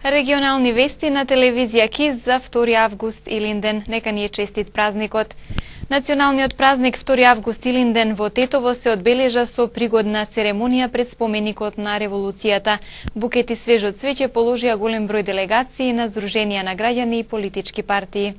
Регионални вести на телевизија КИС за 2 август Илинден. Нека ни е честит празникот. Националниот празник 2 август Илинден во Тетово се одбележа со пригодна церемонија пред споменикот на револуцијата. Букети свежо цвеќе положија голем број делегации на здруженија на граѓани и политички партии.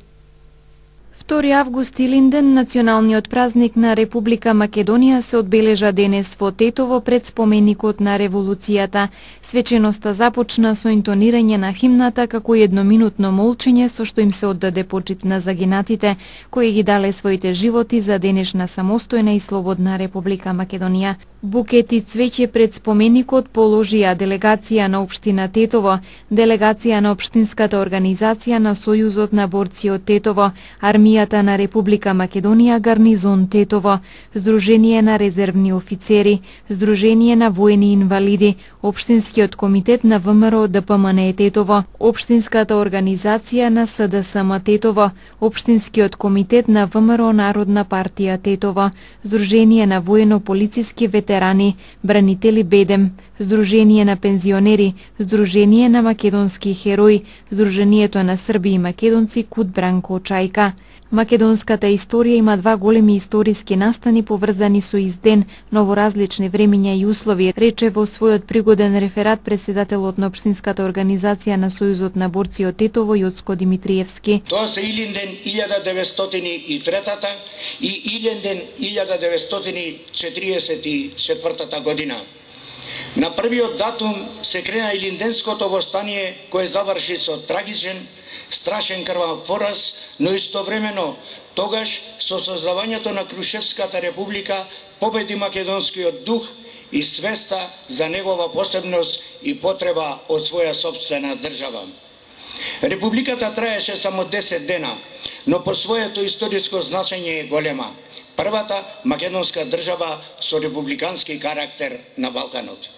2 август Илинден, националниот празник на Република Македонија, се одбележа денес во Тетово пред споменикот на револуцијата. Свеченоста започна со интонирање на химната како едноминутно молчење со што им се оддаде почит на загинатите, кои ги дале своите животи за денешна самостојна и слободна Република Македонија. Букети цвеќе пред споменикот положија делегација на општина Тетово, делегација на општинската организација на Сојузот на борци од Тетово, Армијата на Република Македонија Гарнизон Тетово, Сдружение на резервни офицери, Сдружение на воени инвалиди, Општинскиот комитет на ВМРО ДПМН Тетово, Општинската организација на СДСМ Тетово, Општинскиот комитет на ВМРО Народна партија Тетово, Сдружение на воено-полициски ветерани, Бранители Бедем, Сдружение на пензионери, Сдружение на македонски херои, Сдруженијето на срби и македонци Кут Бранко Чајка. Македонската историја има два големи историски настани поврзани со изден, но во различни времиња и услови, рече во својот пригоден реферат председателот на Општинската организација на Сојузот на борци од Тетово Јоцко Димитриевски. Тоа се Илинден 1903 и Илинден 1944 година. На првиот датум се крена Илинденското востание кое заврши со трагичен, страшен крвав пораз, но истовремено тогаш со создавањето на Крушевската република победи македонскиот дух и свеста за негова посебност и потреба од своја сопствена држава. Републиката траеше само 10 дена, но по своето историско значење е голема. Првата македонска држава со републикански карактер на Балканот.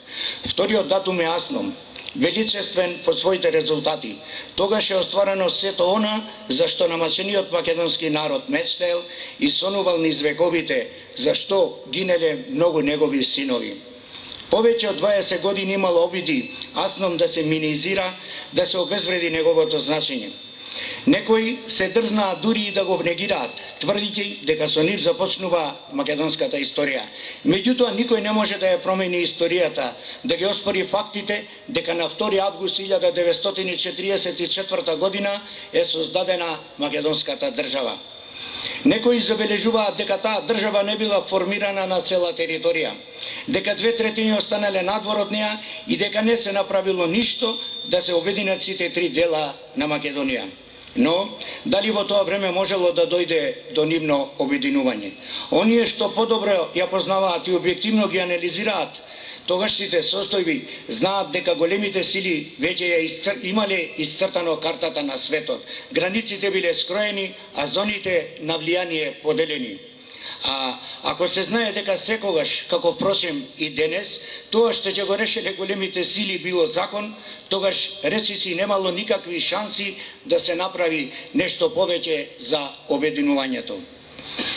Вториот датум е Асном, величествен по своите резултати. Тогаш е остварено сето она за што намачениот македонски народ мечтаел и сонувал низ вековите, за што гинеле многу негови синови. Повеќе од 20 години имало обиди Асном да се минизира, да се обезвреди неговото значење. Некои се дрзнаа дури и да го негираат, тврдијќи дека со нив започнува македонската историја. Меѓутоа, никој не може да ја промени историјата, да ги оспори фактите дека на 2 август 1944 година е создадена македонската држава. Некои забележуваат дека таа држава не била формирана на цела територија, дека 2/3 останале надвор од неа и дека не се направило ништо да се обединат сите три дела на Македонија. Но, дали во тоа време можело да дојде до нивно обединување? Оние што подобро ја познаваат и објективно ги анализираат тогашните состојби, знаат дека големите сили веќе ја имале исцртано картата на светот. Границите биле скроени, а зоните на влијание поделени. А ако се знае дека секогаш, како впрочем и денес, тоа што ќе го решеле големите сили било закон, тогаш речиси немало никакви шанси да се направи нешто повеќе за обединувањето.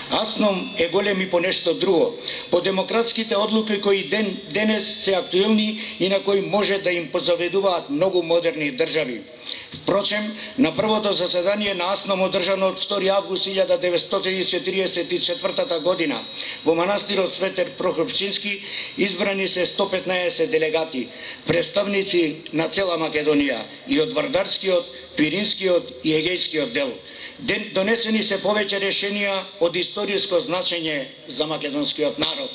Асном е голем и по нешто друго, по демократските одлуки кои денес се актуелни и на кои може да им позаведуваат многу модерни држави. Впрочем, на првото заседание на Асном одржано од 2 август 1944 година во манастирот Светер Прохопчински избрани се 115 делегати, представници на цела Македонија и од Вардарскиот, Пиринскиот и Егејскиот дел. Донесени се повеќе решенија од историско значење за македонскиот народ.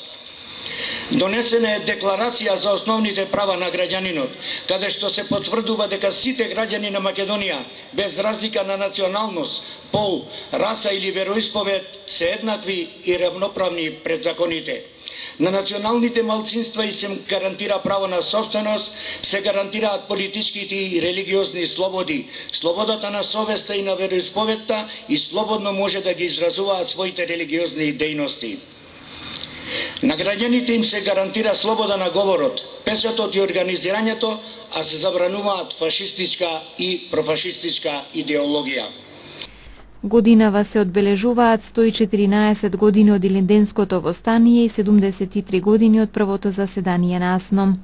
Донесена е декларација за основните права на граѓанинот, каде што се потврдува дека сите граѓани на Македонија, без разлика на националност, пол, раса или вероисповед, се еднакви и равноправни пред законите. На националните малцинства и се гарантира право на собственост, се гарантираат политичките и религиозни слободи, слободата на совеста и на вероисповедта и слободно може да ги изразуваат своите религиозни дејности. На граѓаните им се гарантира слобода на говорот, печатот и организирањето, а се забрануваат фашистичка и профашистичка идеологија. Годинава се одбележуваат 114 години од Илинденското востание и 73 години од првото заседание на Асном.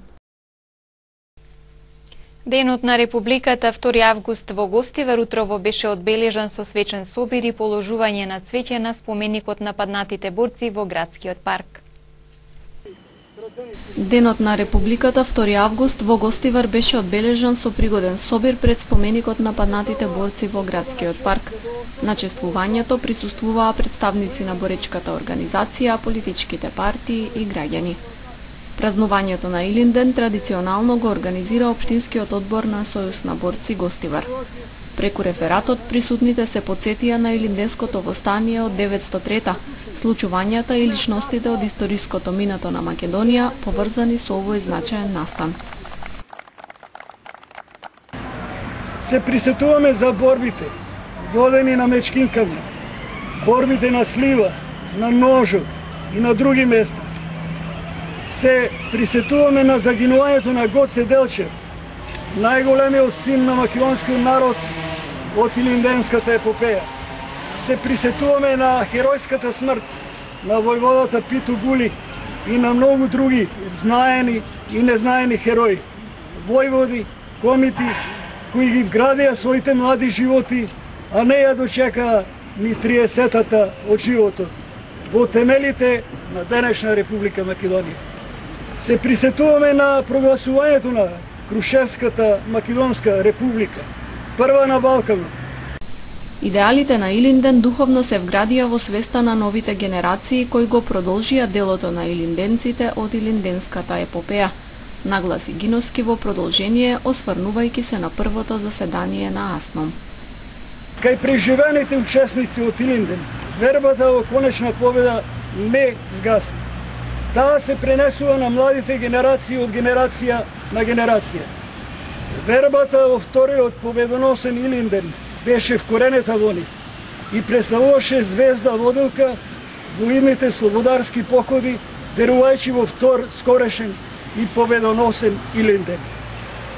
Денот на Републиката 2 август во Гостивар утрово беше одбележан со свечен собир и положување на цвеќе на споменикот на паднатите борци во градскиот парк. Денот на Републиката 2 август во Гостивар беше одбележан со пригоден собир пред споменикот на паднатите борци во градскиот парк. На чествувањето присуствуваа представници на боречката организација, политичките партии и граѓани. Празнувањето на Илинден традиционално го организира Општинскиот одбор на Сојуз на борци Гостивар. Преку рефератот присутните се потсетија на Илинденското востание од 903-та, случувањата и личностите од историското минато на Македонија поврзани со овој значаен настан. Се присетуваме за борбите водени на мечкинками, борбите на Слива, на Ножо и на други места. Се присетуваме на загинувањето на Гоце Делчев, најголемиот син на македонскиот народ од Илинденската епопеја. Се присетуваме на херојската смрт на војводата Питу Гули и на многу други знаени и незнаени херои, војводи, комити, кои ги вградија своите млади животи, а не ја дочекаа ни 30-та од животот во темелите на денешна Република Македонија. Се присетуваме на прогласувањето на Крушевската Македонска република, прва на Балканот. Идеалите на Илинден духовно се вградија во свеста на новите генерации кои го продолжија делото на илинденците од Илинденската епопеја, нагласи Гиновски во продолжение, осврнувајќи се на првото заседание на АСНОМ. Кај преживените учесници од Илинден, вербата во конечна победа не згасна. Таа се пренесува на младите генерации од генерација на генерација. Вербата во вториот победоносен Илинден беше вкоренета во нив и представуваше звезда водилка во идните слободарски походи, верувајќи во втор скорешен и победоносен Илинден.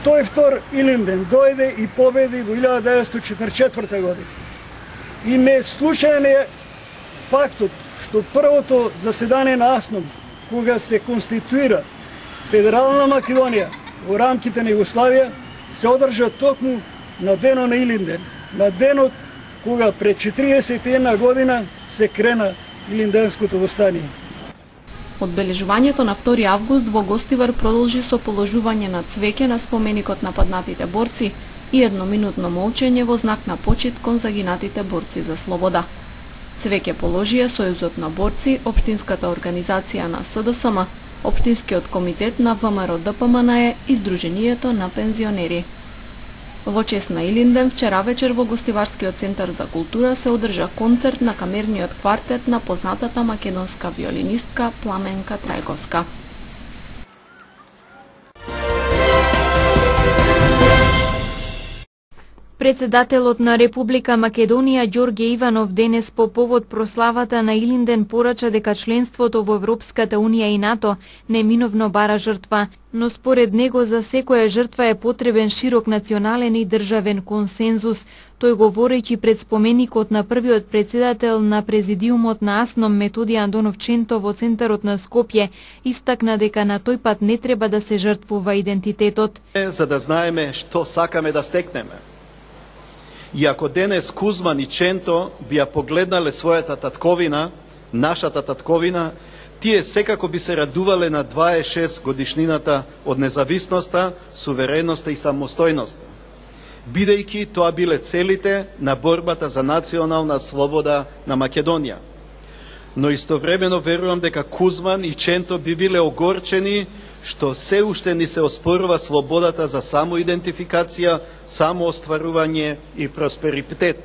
Тој втор Илинден дојде и победи во 1944 година. И не случаен е фактот што првото заседание на АСНОМ, кога се конституира Федерална Македонија во рамките на Југославија, се одржа токму на денот на Илинден, на денот кога пред 41 година се крена Илинденското востание. Одбележувањето на 2 август во Гостивар продолжи со положување на цвеќе на споменикот на паднатите борци и едноминутно молчење во знак на почит кон загинатите борци за слобода. Цвеќе положија Сојузот на борци, Општинската организација на СДСМ, Општинскиот комитет на ВМРО-ДПМНЕ и Сдруженијето на пензионери. Во чест на Илинден, вчера вечер во Гостиварскиот центар за култура се одржа концерт на камерниот квартет на познатата македонска виолинистка Пламенка Трајковска. Председателот на Република Македонија Ѓорѓе Иванов денес по повод прославата на Илинден порача дека членството во Европската Унија и НАТО неминовно бара жртва, но според него за секоја жртва е потребен широк национален и државен консензус. Тој говорејќи пред споменикот на првиот председател на президиумот на АСНОМ Методи Андонов Ченто во центарот на Скопје, истакна дека на тој пат не треба да се жртвува идентитетот. За да знаеме што сакаме да стекнеме. И ако денес Кузман и Ченто би ја погледнале својата татковина, нашата татковина, тие секако би се радувале на 26 годишнината од независноста, сувереноста и самостојноста, бидејќи тоа биле целите на борбата за национална слобода на Македонија. Но истовремено верувам дека Кузман и Ченто би биле огорчени што се уште ни се оспорува слободата за самоидентификација, самоостварување и просперитет.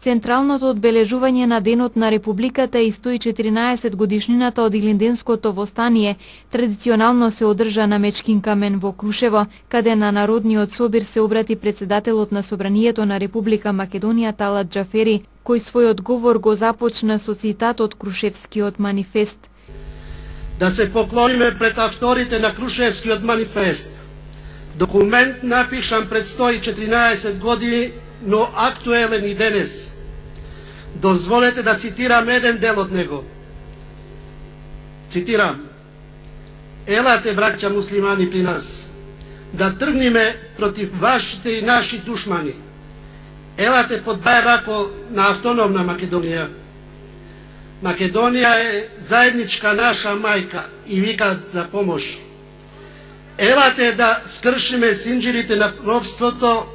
Централното одбележување на Денот на Републиката и 114 годишнината од Илинденското востание традиционално се одржа на Мечкин камен во Крушево, каде на Народниот собир се обрати председателот на Собранието на Република Македонија Талат Џафери, кој својот говор го започна со цитат од Крушевскиот манифест. Да се поклониме пред авторите на Крушевскиот манифест. Документ напишан пред 114 години, но актуелен и денес. Дозволете да цитирам еден дел од него. Цитирам: Елате, браќа муслимани, при нас. да тргнеме против вашите и наши душмани. Елате под бај рако на автономна Македонија. Македонија е заедничка наша мајка и викат за помош. Елате да скршиме синџирите на робството,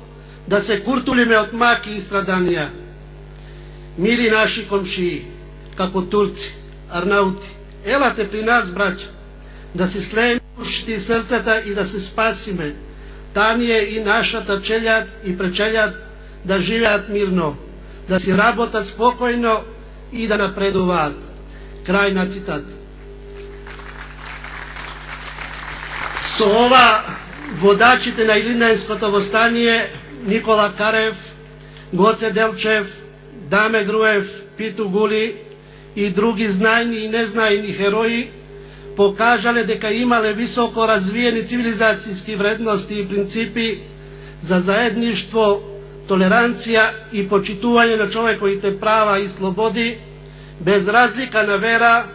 да се куртулиме од маки и страданија. Мили наши комшии, како турци, арнаути, елате при нас, браќа, да се слееме ушите и срцата и да се спасиме. Тание и нашата челјад и пречелјад да живеат мирно, да си работат спокојно и да напредуваат. Крај на цитат. Со ова водачите на Илинденското востание Никола Карев, Гоце Делчев, Даме Груев, Питу Гули и други знајни и незнајни херои покажале дека имале високо развиени цивилизацијски вредности и принципи за заедништво, толеранција и почитување на човековите права и слободи, без разлика на вера,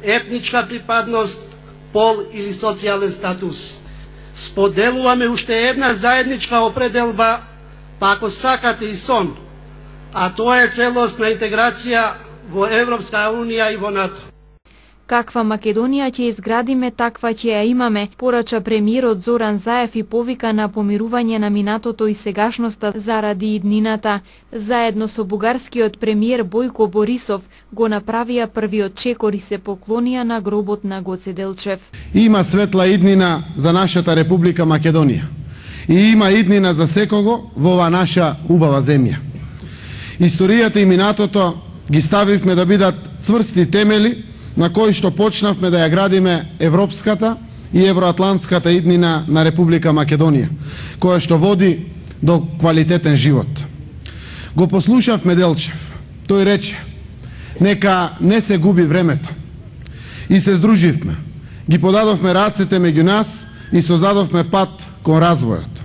етничка припадност, пол или социјален статус. Споделуваме уште една заедничка определба, па ако сакате и сон, а тоа е целосна интеграција во Европска Унија и во НАТО. Каква Македонија ќе изградиме, таква ќе ја имаме, порача премиерот Зоран Заев и повика на помирување на минатото и сегашноста заради иднината. Заедно со бугарскиот премиер Бојко Борисов го направија првиот чекор и се поклонија на гробот на Гоце Делчев. Има светла иднина за нашата Република Македонија. И има иднина за секого во ова наша убава земја. Историјата и минатото ги ставивме да бидат цврсти темели на кои што почнавме да ја градиме европската и евроатлантската иднина на Република Македонија, која што води до квалитетен живот. Го послушавме Делчев. Тој рече: нека не се губи времето. И се здруживме. Ги подадовме рацете меѓу нас и создадовме пат кон развојот.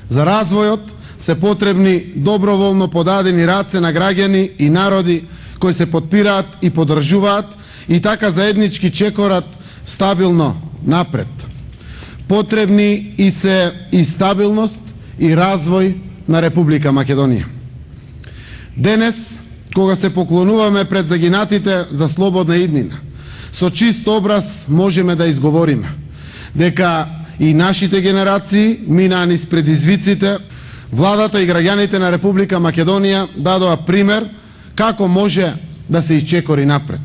За развојот се потребни доброволно подадени раце на граѓани и народи кои се подпираат и поддржуваат и така заеднички чекорат стабилно напред. Потребни и се и стабилност и развој на Република Македонија. Денес, кога се поклонуваме пред загинатите за слободна иднина, со чист образ можеме да изговориме дека и нашите генерации минаа низ предизвиците, владата и граѓаните на Република Македонија дадоа пример како може да се исчекори напред.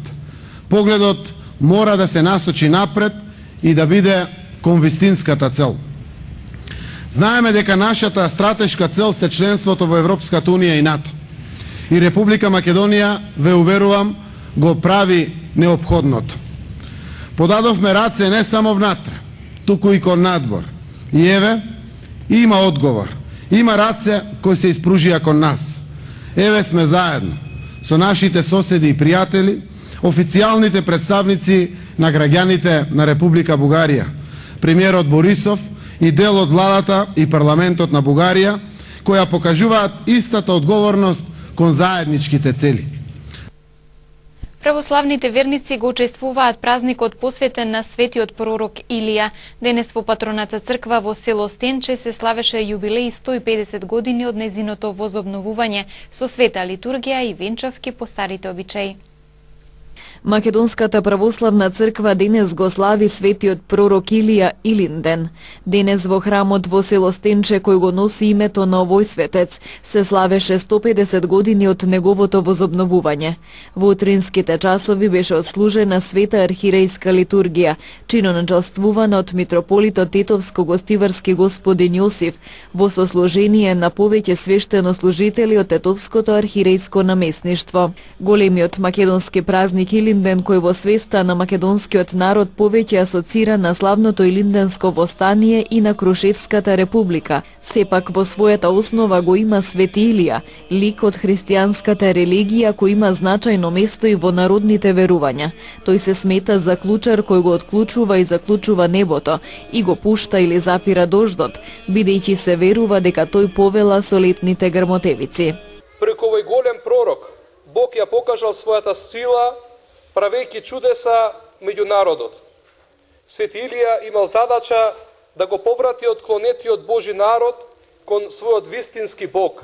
Погледот мора да се насочи напред и да биде кон вистинската цел. Знаеме дека нашата стратешка цел се членството во Европската Унија и НАТО. И Република Македонија, ве уверувам, го прави неопходното. Подадовме раце не само внатре, туку и кон надвор. И еве, има одговор. Има раце кои се испружија кон нас. Еве сме заедно со нашите соседи и пријатели, официјалните представници на граѓаните на Република Бугарија, премиерот Борисов и дел од владата и парламентот на Бугарија, која покажуваат истата одговорност кон заедничките цели. Православните верници го учествуваат празникот посветен на светиот пророк Илија. Денес во Патроната црква во село Стенче се славеше јубилеј 150 години од незиното возобновување со света литургија и венчавки по старите обичаи. Македонската православна црква денес го слави светиот пророк Илија Илинден. Денес во храмот во село Стенче, кој го носи името на овој светец, се славеше 150 години од неговото возобновување. Во утринските часови беше отслужена света архирејска литургија, чиноначалствувана од митрополитот Тетовско-гостиварски господин Јосиф, во сослужение на повеќе свештенослужители од Тетовското архирејско наместништво. Големиот македонски празник Илинден, кој во свеста на македонскиот народ повеќе асоцира на славното Илинденско востание и на Крушевската република, сепак во својата основа го има Свети Илија, лик од христијанската религија кој има значајно место и во народните верувања. Тој се смета за клучар кој го отклучува и заклучува небото и го пушта или запира дождот, бидејќи се верува дека тој повела со летните грмотевици. Преку овој голем пророк Бог ја покажал својата сила, правејќи чудеса меѓу народот. Свети Илија имал задача да го поврати отклонетиот Божи народ кон својот вистински Бог.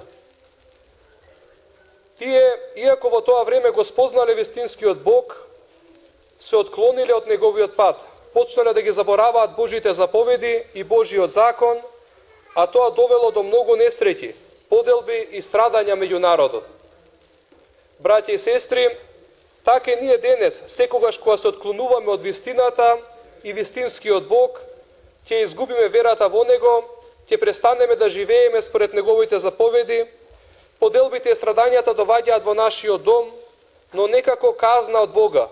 Тие, иако во тоа време го спознале вистинскиот Бог, се отклониле од неговиот пат, почнале да ги забораваат Божите заповеди и Божиот закон, а тоа довело до многу несреќи, поделби и страдања меѓу народот. Браќи и сестри, така и ние денес, секогаш кога се отклонуваме од вистината и вистинскиот Бог, ќе изгубиме верата во Него, ќе престанеме да живееме според Неговите заповеди, поделбите и страдањата доваѓаат во нашиот дом, но не како казна од Бога,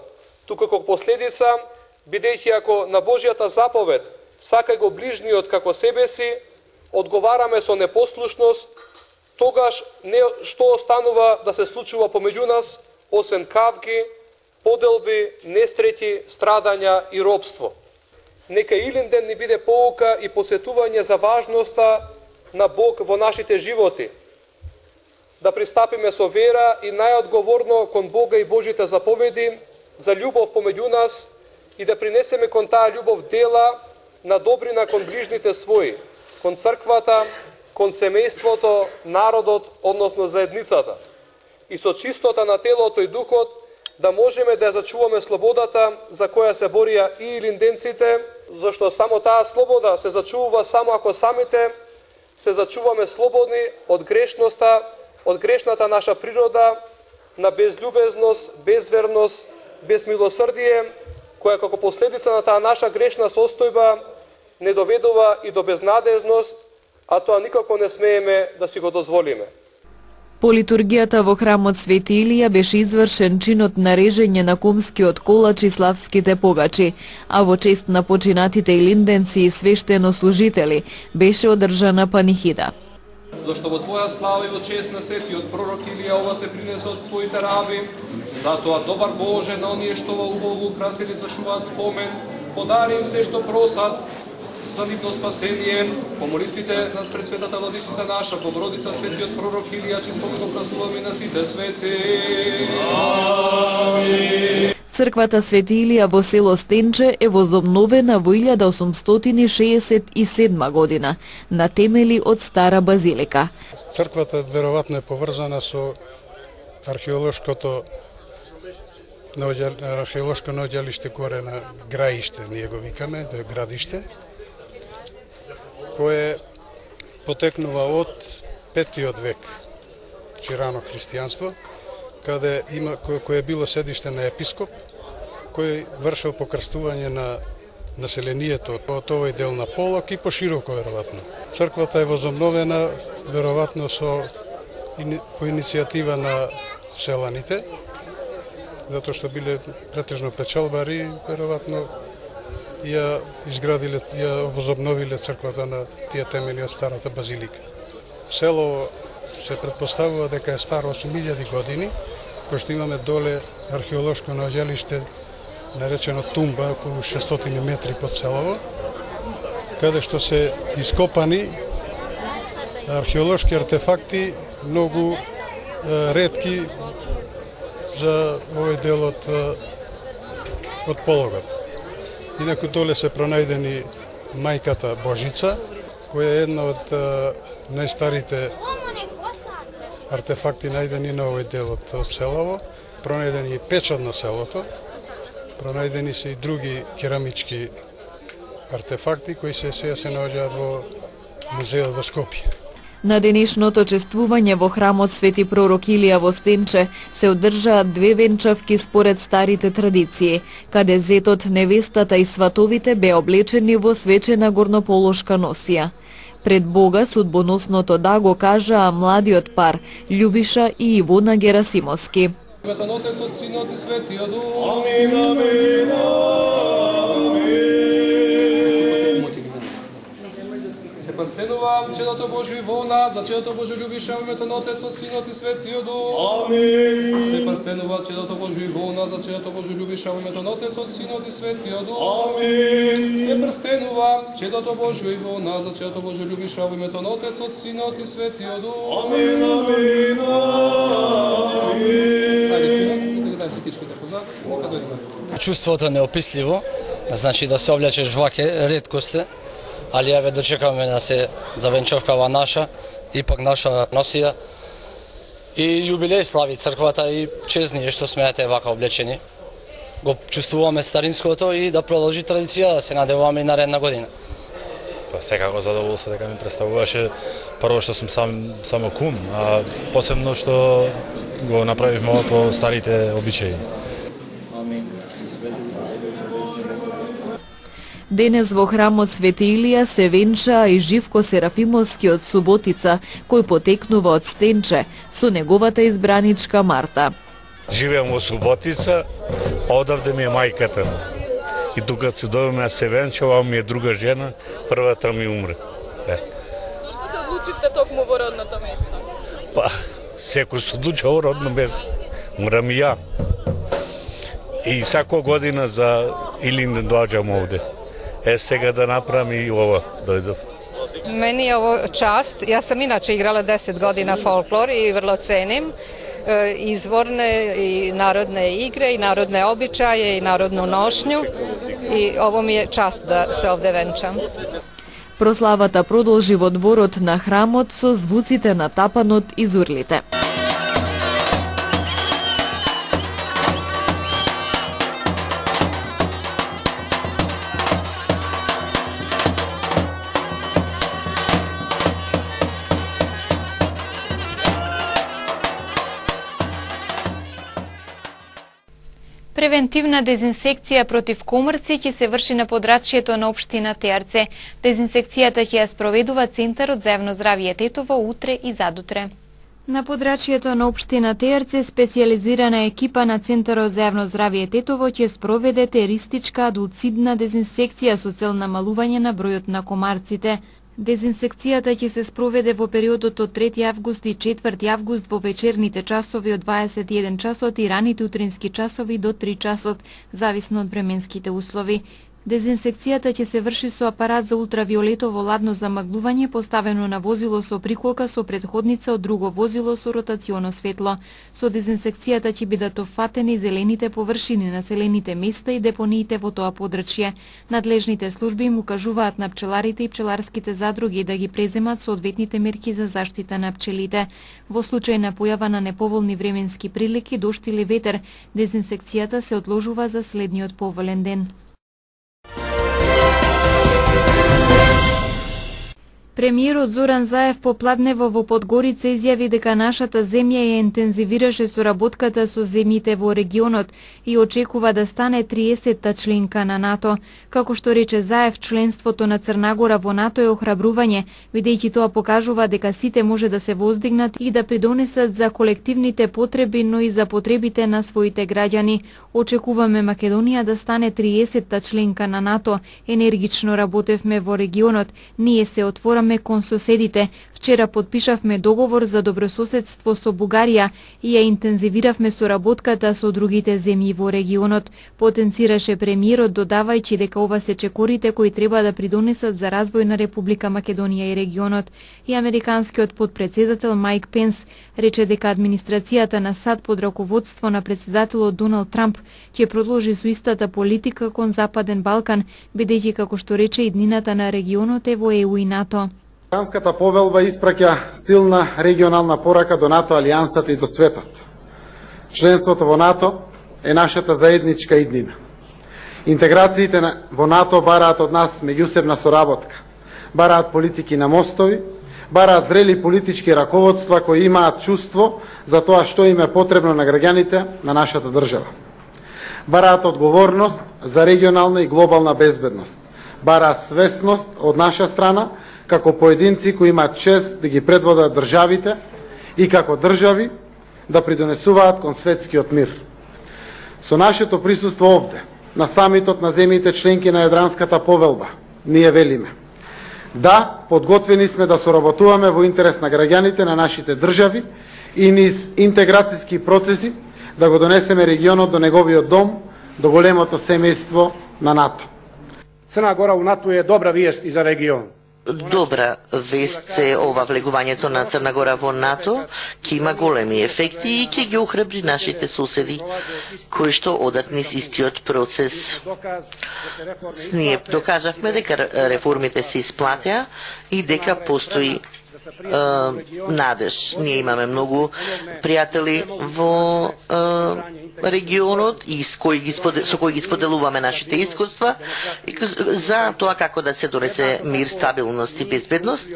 туку како последица, бидејќи ако на Божјата заповед сакај го ближниот како себе си, одговараме со непослушност, тогаш не што останува да се случува помеѓу нас, освен кавги, поделби, несреќи, страдања и робство. Нека Илинден ни биде поука и подсетување за важноста на Бог во нашите животи. Да пристапиме со вера и најодговорно кон Бога и Божите заповеди за љубов помеѓу нас и да принесеме кон таа љубов дела на добрина кон ближните своји, кон црквата, кон семејството, народот, односно заедницата. И со чистота на телото и духот да можеме да зачуваме слободата за која се борија и илинденците, зашто само таа слобода се зачувува само ако самите се зачуваме слободни од грешноста, од грешната наша природа, на безљубезност, безверност, безмилосрдие, која како последица на таа наша грешна состојба не доведува и до безнадежност, а тоа никако не смееме да си го дозволиме. По литургијата во храмот Свети Илија беше извршен чинот на режење на кумскиот колач и славските погачи, а во чест на починатите илинденци и свештенослужители беше одржана панихида. Зашто во Твоја слава и во чест на светиот пророк Илија ова се принесе од Твоите раби, затоа добар Боже на оние што во убаво украсили зашуваат спомен, подари им се што просат за нивно спасение, по молитвите на Пресветата Владичица наша, Богородица, светиот пророк Илија, чисто го празнуваме на сите свети. Амин. Црквата Свети Илија во село Стенче е возобновена во 1867 година на темели од стара базилика. Црквата веројатно е поврзана со археолошко наоѓалиште горе на Граиште, ние го викаме, да е градиште, кое потекнува од 5 век, рано христијанство, кое било седиште на епископ, кој вршил покрстување на населението од овој дел на Полок и пошироко веројатно. Црквата е возобновена веројатно по иницијатива на селаните, затоа што биле претежно печалбари, веројатно ја изградиле, ја возобновиле црквата на тие темели од старата базилика. Село се претпоставува дека е старо 8000 години, кој што имаме доле археолошко наоѓалиште наречено Тумба, околу 600 метри под селово, каде што се ископани археолошки артефакти, многу ретки за овој дел од Пологот. Инаку доле се пронајдени мајката Божица, која е една од најстарите артефакти најдени на овој дел од селово. Пронајдени и печат на селото, пронајдени се и други керамички артефакти кои се наоѓаат во музеот во Скопје. На денешното чествување во храмот Свети пророк Илија во Стенче се одржаат 2 венчавки според старите традиции, каде зетот, невестата и сватовите беа облечени во свечена горнополошка носија. Пред Бога судбоносното да го кажаа младиот пар Љубиша и Ивона Герасимовски. Светот Отецот, Синот и Светиот Дух. Амин, амин, Се прстенува чедото Божјо Ивона, за чедото Божјо Љубиша во името на Отецот, Синот и Светиот Дух. Амин. Се прстенува чедото Божјо Ивона, за чедото Божјо Љубиша во името на Отецот, Синот и Светиот Дух. Амин. Се прстенува чедото Божјо Ивона, за чедото Божјо Љубиша во името на Отецот, Синот и Светиот Дух. Амин, амин, Чувството неописливо, значи да се облечеш ваке, ретко сте, али ја ве дочекаме да се завенчавкава наша, ипак наша носија. И јубилеј слави црквата и честни што смеате вака облечени. Го чувствуваме старинското и да продолжи традиција да се надевуваме и наредна година. Па секако задоволство дека ми представуваше прво што сум само кум, а посебно што го направивме ова по старите обичаи. Денес во храмот Свети Илија се венчаа и Живко Серафимовски од Суботица, кој потекнува од Стенче, со неговата избраничка Марта. Живеам во Суботица, одавде ми е мајката. И тука се дојдеме се венчава, ми е друга жена, првата ми умре. Зошто се одлучивте токму во родното место? Па, секој се одлучува во родно место. Морам и ја. И секоја година за Илинден доаѓам овде. Сега да направам и ова дојдов. Мени е ово част. Јас сам иначе играла 10 година фолклор и врло ценим изворне и народне игре и народне обичаје и народну ношњу. И ово ми е част да се овде венчам. Прославата продолжи во дворот на храмот со звуците на тапанот и зурлите. Превентивна дезинсекција против комрци ќе се врши на подрачјето на општина Теарце. Дезинсекцијата ќе ја спроведува Центарот за јавно здравје Тетово утре и задутре. На подрачјето на општина Теарце специјализирана екипа на Центарот за јавно здравје Тетово ќе спроведе теристичка адулцидна дезинсекција со цел намалување на бројот на комарците. Дезинсекцијата ќе се спроведе во периодот од 3 август и 4 август во вечерните часови од 21 часот и раните утрински часови до 3 часот, зависно од временските услови. Дезинсекцијата ќе се врши со апарат за ултравиолетово ладно замаглување поставено на возило со приколка со претходница од друго возило со ротационо светло. Со дезинсекцијата ќе бидат офатени зелените површини, населените места и депониите во тоа подрачје. Надлежните служби им укажуваат на пчеларите и пчеларските задруги да ги преземат соодветните мерки за заштита на пчелите. Во случај на појава на неповолни временски прилики, дожд или ветер, дезинсекцијата се одложува за следниот поволен ден. Премиерот Зоран Заев попладнево во Подгорица изјави дека нашата земја ја интензивираше соработката со земјите во регионот и очекува да стане 30-та членка на НАТО. Како што рече Заев, членството на Црнагора во НАТО е охрабрување, бидејќи тоа покажува дека сите може да се воздигнат и да придонесат за колективните потреби, но и за потребите на своите граѓани. Очекуваме Македонија да стане 30-та членка на НАТО. Енергично работевме во регионот. Ние се отвораме кон соседите. Вчера подпишавме договор за добрососедство со Бугарија и ја интензивиравме соработката со другите земји во регионот. Потенцираше премиерот, додавајќи дека ова се чекорите кои треба да придонесат за развој на Република Македонија и регионот. И американскиот подпредседател Майк Пенс рече дека администрацијата на САД под раководство на председателот Доналд Трамп ќе продолжи со истата политика кон Западен Балкан, бидејќи како што рече иднината на регионот е во ЕУ и НАТО. Рамската повелба испраќа силна регионална порака до НАТО алијансата и до светот. Членството во НАТО е нашата заедничка иднина. Интеграциите во НАТО бараат од нас меѓусебна соработка, бараат политики на мостови, бараат зрели политички раководства кои имаат чувство за тоа што им е потребно на граѓаните на нашата држава. Бараат одговорност за регионална и глобална безбедност. Бараат свесност од наша страна како поединци кои имаат чест да ги предводат државите и како држави да придонесуваат кон светскиот мир. Со нашето присуство овде, на самитот на земјите членки на Јадранската повелба, ние велиме: да, подготвени сме да соработуваме во интерес на граѓаните на нашите држави и низ интеграцијски процеси да го донесеме регионот до неговиот дом, до големото семејство на НАТО. Црна Гора у НАТО е добра виест и за регион. добра вест е ова влегувањето на Црна Гора во НАТО, ќе има големи ефекти и ќе ги охрабри нашите соседи кои што одат низ истиот процес. Ние докажавме дека реформите се исплатеа и дека постои надеж. Ние имаме многу пријатели во регионот и со кои ги споделуваме нашите искуства за тоа како да се донесе мир, стабилност и безбедност.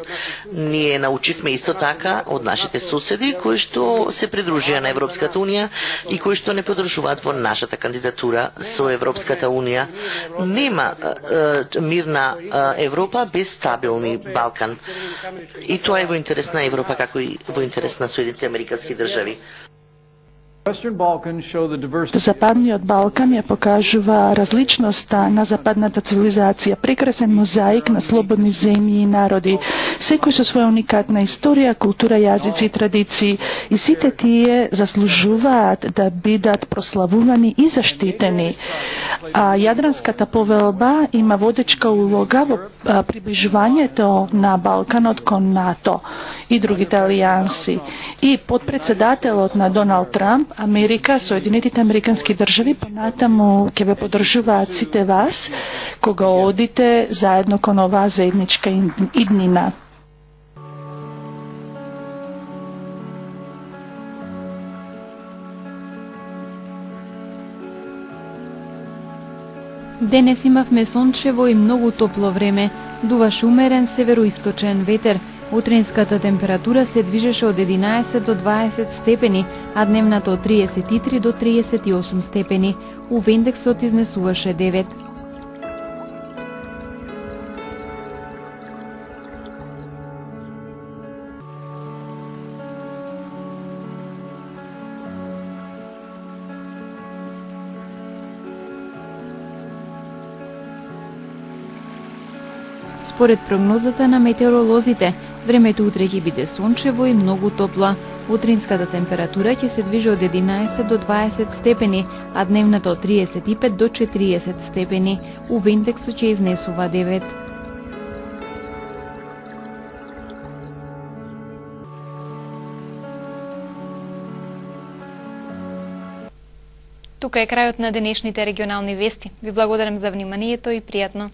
Ние научивме исто така од нашите соседи кои што се придружија на Европската унија и кои што не подржуваат во нашата кандидатура со Европската унија. Нема мирна Европа без стабилни Балкан. И тоа е во интерес на Европа, како и во интерес на Соединетите американски држави. Западниот Балкан ја покажува различноста на западната цивилизација, прекрасен мозаик на слободни земји и народи, секој со своја уникатна историја, култура, јазици и традиции, и сите тие заслужуваат да бидат прославувани и заштитени. А Јадранската повелба има водечка улога во приближувањето на Балканот кон НАТО и другите алијанси. И подпредседателот на Доналд Трамп, Америка, Соединетите американски држави понатаму ќе ве поддржуваат сите вас кога одите заедно кон оваа заедничка иднина. Денес имавме сончево и многу топло време. Дуваше умерен североисточен ветер. Утринската температура се движеше од 11 до 20 степени, а дневната од 33 до 38 степени. УВ-индексот изнесуваше 9. Според прогнозата на метеоролозите, времето утре ќе биде сончево и многу топла. Утринската температура ќе се движи од 11 до 20 степени, а дневната од 35 до 40 степени. УВ-индексот ќе изнесува 9. Тука е крајот на денешните регионални вести. Ви благодарам за вниманието и пријатно.